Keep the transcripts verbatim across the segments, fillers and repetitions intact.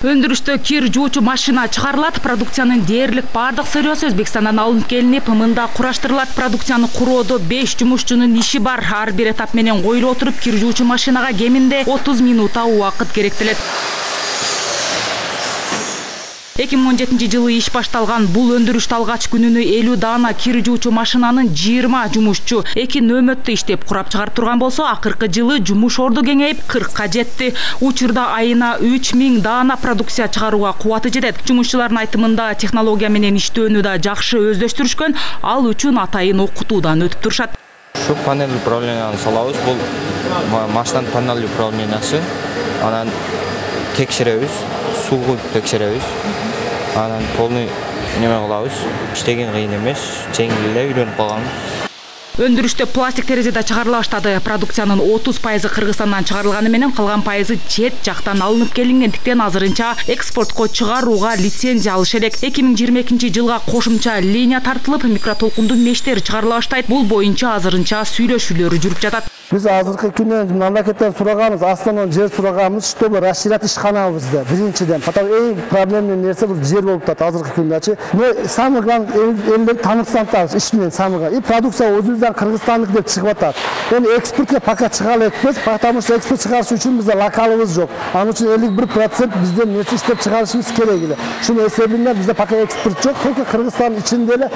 Өндүрүштө кир жуучу машина чыгарылат. Продукциянын дээрлик бардык сырьёсу Өзбекстандан алынып келинип, мында кураштырылат. Продукцияны куруудо беш жумушчунун иши бар. Ар бир этап менен коюлуп отуруп, кир жуучу машинага кеминде отуз минутта убакыт керектелет. эки миң он жетинчи жылы иш башталган бул өндүрүштө алгач күнүнө элүү даана кир жуучу машинанын жыйырма жумушчу эки нөөмөттө иштеп курап чыгарып турган болсо, акыркы жылы жумуш орду кеңейип кыркка жетти. Учурда айына үч миң даана продукция чыгарууга кубаты жетет. Жумушчулардын айтымында технология менен иштөөнү да жакшы өздөштүрүшкөн, ал үчүн атайын окутуудан өтүп турушат. Şu panel управленияны салабыз, бул машинанын панель управлениясы. Анан текшеребиз, сууну текшеребиз. Анан полный неме кылабыз. Иштеген кыйын эмес, жеңил эле үйрөнүп калганбыз. Өндүрүштө пластик терезе да чыгарыла баштады. Продукциянын отуз пайызы Кыргызстандан чыгарылганы менен калган пайызы чет жактан алынып келингендиктен азырынча экспортко чыгарууга лицензия алыш элек. эки миң жыйырма экинчи жылга кошумча линия тартылып, микротолкундуу мештер чыгарыла баштайт. Бул боюнча азырынча сүйлөшүүлөр жүрүп жатат. Биз азыркы күнү мамлекеттен сураганбыз, Астанадан жер сураганбыз, чтобы расширять ишканабызды. Биринчиден, потому эң проблемный нерсе бул жер болуп атат азыркы күндө. Мы самый главный элдер танытсантабыз иш менен самый главный. И продукция өзүбүздөн Кыргызстандык деп чыгып атат. Эми экспортко пока чыга элекпиз, потому что экспорт чыгарыш үчүн бизде локалыбыз жок. Анын үчүн элүү бир процент бизден нерсе иштеп чыгарышыбыз керек эле. Шунун эсебинен бизде пока экспорт жок, только Кыргызстан ичинде эле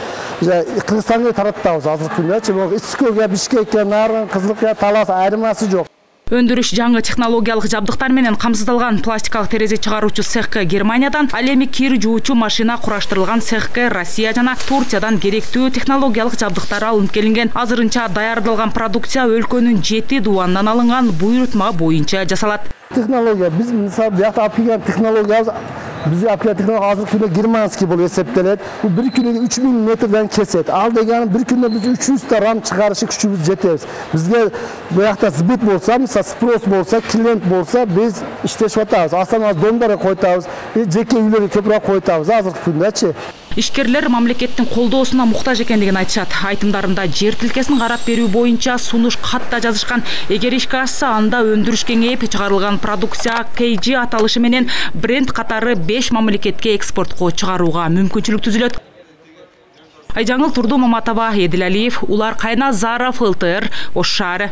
Кыргызстанга таратабыз азыркы күндө. Ичкөгө, Бишкекке, Нарын, Кызылыкка талас айырмасы жок. Өндүрүш жаңы технологиялык жабдыктар менен камсыздалган. Пластикалык терезе чыгаруучу цехке Германиядан, ал эми кир жуучу машина кураштырылган цехке Россия жана Турциядан керектүү технологиялык жабдыктар алынып келинген. Азырынча даярдалган продукция өлкөнүн жети дубанынан алынган буйрутма боюнча жасалат. Технология биз мисалы бuyakta алып келген технология Bizde aplikatörler hazır küne Germanski bol eseptelet. Bu bir küne üç bin metreden keset. Al degani bir küne biz üç yüz ta ram çıkarışı küçüğümüz jeteriz. Bizge bu yakta zbit bolsa, misal spros bolsa, klient bolsa biz işteşip atabız. Aslında dondara koytabız, jeke üyleri köpürak koytabız. Hazır küneçi. Ишкерлер мамлекеттин колдоосуна муктаж экендигин айтышат. Айтымдарында жер тилкесин карап берүү боюнча сунуш катта жазышкан. Эгер ишке ашса, анда өндүрүш кеңейип чыгарылган продукция кей джи аталышы менен бренд катары беш мамлекетке экспортко чыгарууга мүмкүнчүлүк түзүлөт. Айжаңыл Турду Маматова, Едил Алиев, Улар Кайназаров, эл тэ эр, Ош шаары.